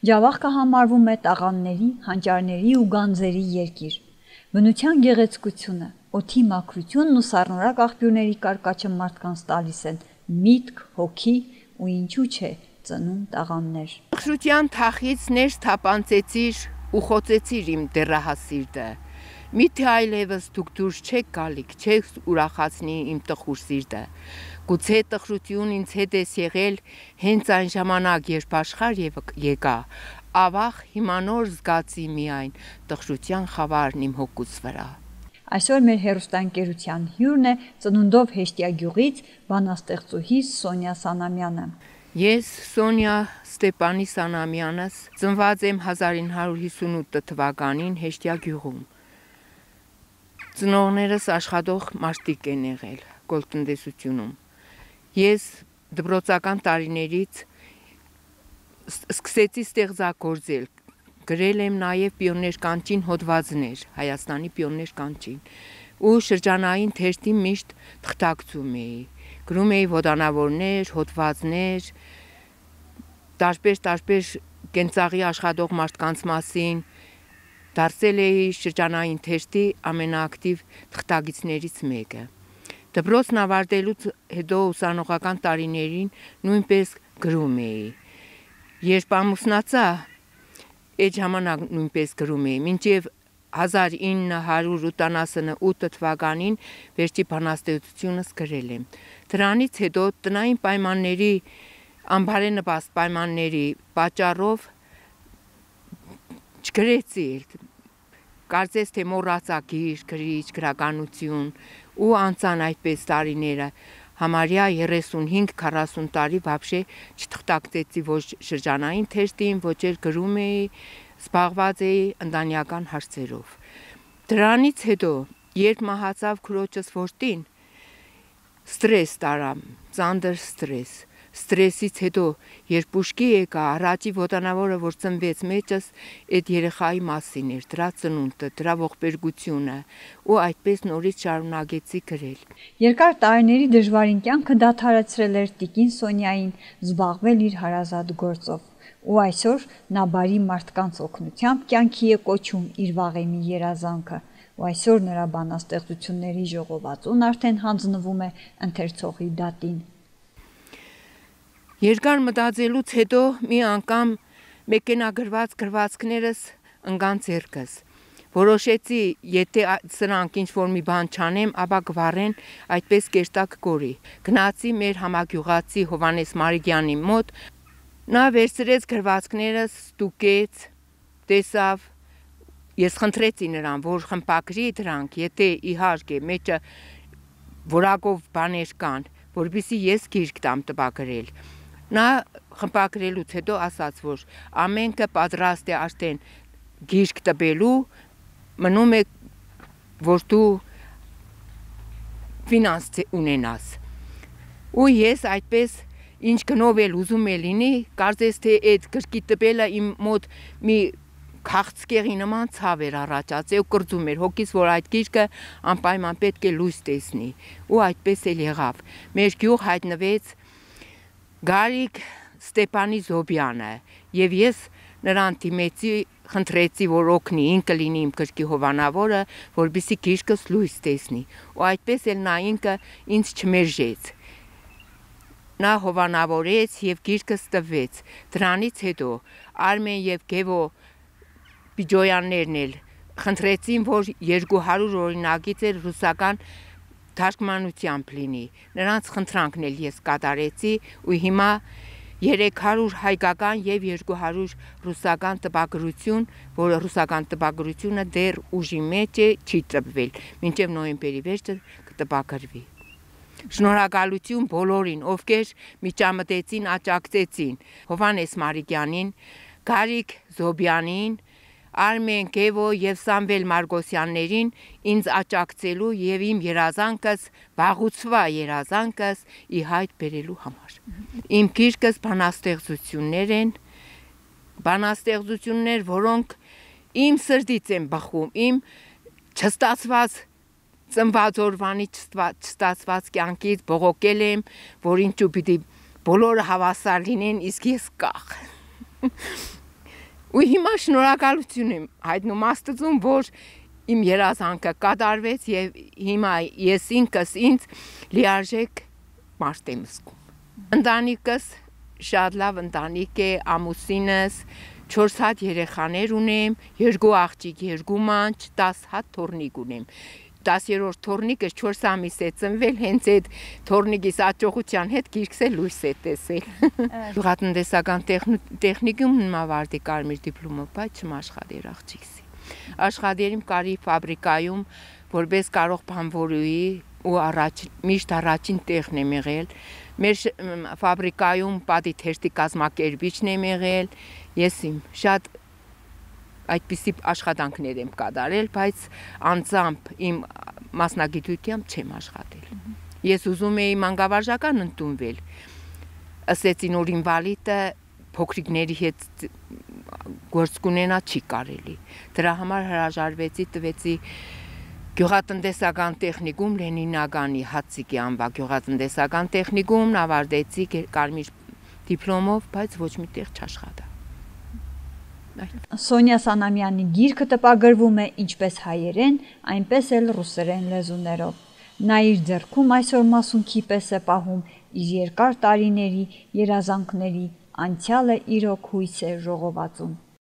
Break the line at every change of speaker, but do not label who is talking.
Ջավախքը համարվում է տաղանդների, հանճարների ու գանձերի երկիր։ Բնության գեղեցկությունը, օդի մաքրությունն ու սառնորակ աղբյուրների կարկաչը մարդկանց տալիս են միտք, հոգի ու ինչու՞ չէ ծնում տաղանդներ։
Տխրության թախից ներս թափանցեցիր ու խոցեցիր իմ դեռահաս սիրտը։ Միթե այլևս դուք դուրս չեք գալիք, չեք ուրախացնի իմ տխուր սիրտը։ Գուցե տխրություն ինձ հետ ես եղել հենց այն ժամանակ, երբ աշխարհ եկա, ավաղ հիմա նոր զգացի միայն տխրության խավարն իմ հոգուց վրա։
Այսօր մեր հեռուստաընկերության հյուրն է Ծնունդով Հեշտիագյուղից բանաստեղծուհի Սոնյա Սանամյանը։
Ես Սոնյա Ստեփանի Սանամյանս ծնված եմ 1958 թվականին Հեշտիագյուղում։ Ծնողներս աշխատող մարդիկ են եղել գոլտնտեսությունում։ Ես դպրոցական տարիներից սկսեցի ստեղծագործել, գրել եմ նաև պիոներ կանչին հոդվածներ, Հայաստանի պիոներ կանչին, ու շրջանային թերթի միշտ թղթակցում էի, գրում էի ոդանավորներ, հոդվածներ, տարբեր կենցաղի աշխատող մարդկանց մասին, դարձել էի շրջանային թերթի ամենաակտիվ թղթակիցներից մեկը։ Դպրոցն ավարտելուց հետո ուսանողական տարիներին նույնպես գրում էի։ Երբ ամուսնացա, այդ ժամանակ նույնպես գրում էի, մինչև 1978 թվականին վերջի բանաստեղծությունս գրել եմ։ Դրանից հետո տնային պայմանների, անբարենպաստ պայմանների պատճառով չգրեցի, կարծես թե մոռացա գիրք, գրիչ, գրականություն ու անցան այդպես տարիները, համարյա 35-40 տարի վաբշե չթղթակցեցի ոչ շրջանային թերթին, ոչ էլ գրում էի, զբաղված էի ընտանեկան հարցերով։ Դրանից հետո, երբ մահացավ քրոջս որդին, ստրես տարա, ծանր ստրեսից հետո, երբ ուշքի եկա, առաջի ոտանավորը, որ ծնվեց մեջս, այդ երեխայի մասին էր, դրա ծնունդը, դրա ողբերգությունը, ու այդպես նորից շարունակեցի գրել։
Երկար տարիների դժվարին կյանքը դադարեցրել էր տիկին Սոնյային զբաղվել իր հարազատ գործով, ու այսօր նա բարի մարդկանց օգնությամբ կյանքի է կոչում իր վաղեմի երազանքը, ու այսօր նրա բանաստեղծությունների ժողովածուն արդեն հանձնվում է ընթերցողի դատին։
Երկար մտածելուց հետո մի անգամ մեքենագրված գրվածքներս ընկան ձեռքս։ Որոշեցի, եթե սրանք ինչ-որ մի բան չանեմ, ապա կվառեն այդպես կերտակ գորի։ Գնացի մեր համագյուղացի Հովհաննես Մարիգյանի մոտ, նա վերցրեց գրվածքներս, ստուգեց, տեսավ, ես խնդրեցի նրան, որ խմբագրի դրանք, եթե իհարկե մեջը որակով բաներ կան, որպեսզի ես գիրք տամ տպագրել։ Նա խմբագրելուց հետո ասաց, որ ամենքը պատրաստ է արդեն գիրք տպելու, մնում է, որ դու ֆինանս ունենաս։ Ու ես այդպես ինչ գնով էլ ուզում է լինի, կարծես թե այդ գրքի տպելը իմ մոտ մի քաղցկեղի նման ցավ էր առաջացել ու կրծում էր հոգիս, որ այդ գիրքը անպայման պետք է լույս տեսնի։ Ու այդպես էլ եղավ։ Մեր գյուղ հայտնվեց Գարիկ Ստեփանի Զոբյանը, եւ ես նրան դիմեցի, խնդրեցի, որ օգնի, ինքը լինի իմ գրքի հովանավորը, որպեսզի գիրքս լույս տեսնի։ Ու այդպես էլ նա ինքը ինձ չմերժեց։ Նա հովանավորեց եւ գիրքս տվեց։ Դրանից հետո Արմեն եւ Գևո Բիջոյաններն էլ խնդրեցին, որ 200 օրինագիծ էլ ռուսական թարգմանությամբ լինի։ Նրանց խնդրանքն էլ ես կատարեցի ու հիմա 300 հայկական եւ 200 ռուսական տպագրություն, որը ռուսական տպագրությունը դեռ ուժի մեջ է, չի տպվել, մինչև նոյեմբերի վերջը կտպագրվի։ Շնորհակալություն բոլորին, ովքեր միջամտեցին, աջակցեցին, Հովհաննես Մարիգյանին, Գարիկ Զոբյանին, Արմեն Գևո եւ Սամվել Մարգոսյաններին ինձ աջակցելու եւ իմ երազանքս, վաղուցվա երազանքս ի հայտ բերելու համար։ Իմ գիրքս բանաստեղծություններ են, բանաստեղծություններ, որոնք իմ սրտից են բխում, իմ չստացված ծնված օրվանի չստացված կյանքից բողոքել եմ, որ ինչու պիտի բոլորը հավասար լինեն, իսկ ես կախ։ Ու հիմա շնորհակալություն եմ հայտնում Աստծուն, որ իմ երազանքը կատարվեց եւ հիմա ես ինքս ինձ լիարժեք մարդ եմ զգում։ Ընտանիքս շատ լավ ընտանիք է, ամուսինս 4 հատ երեխաներ ունեմ, 2 աղջիկ, 2 մանչ, 10 հատ թոռնիկ ունեմ։ 10-րդ թոռնիկս 4 ամիս է ծնվել, հենց այդ թոռնիկիս աճողության հետ գիրքս է լույս է տեսել։ Գյուղատնտեսական տեխնիկումն ավարտի կարմիր դիպլոմով, բայց չմաշխատեր աղջիկս։ Աշխատել եմ կարի ֆաբրիկայում, որպես կարող բանվորուհի ու միշտ առաջին տեղն եմ եղել։ Մեր ֆաբրիկայում պատի թերթի կազմակերպիչն եմ եղել, ես իմ շատ այդպիսի աշխատանքներ եմ կատարել, բայց անձամբ իմ մասնագիտությամբ չեմ աշխատել։ Ես ուզում էի մանկավարժական ընդունվել, ասեցին, որ ինվալիդը փոքրիկների հետ գործ կունենա չի կարելի։ Դրա համար հրաժարվեցի, տվեցի գյուղատնտեսական տեխնիկում Լենինագանի Հացիկի անվա գյուղատնտեսական տեխնիկումն ավարտեցի կարմիր դիպլոմով, բայց ոչ մի տեղ չաշխատա։
Սոնյա Սանամյանի գիրքը տպագրվում է ինչպես հայերեն, այնպես էլ ռուսերեն լեզուներով։ Նա իր ձեռքում այսօր մասունքի պես է պահում իր երկար տարիների երազանքների անցյալը իրոք հույս է ժողովածուն։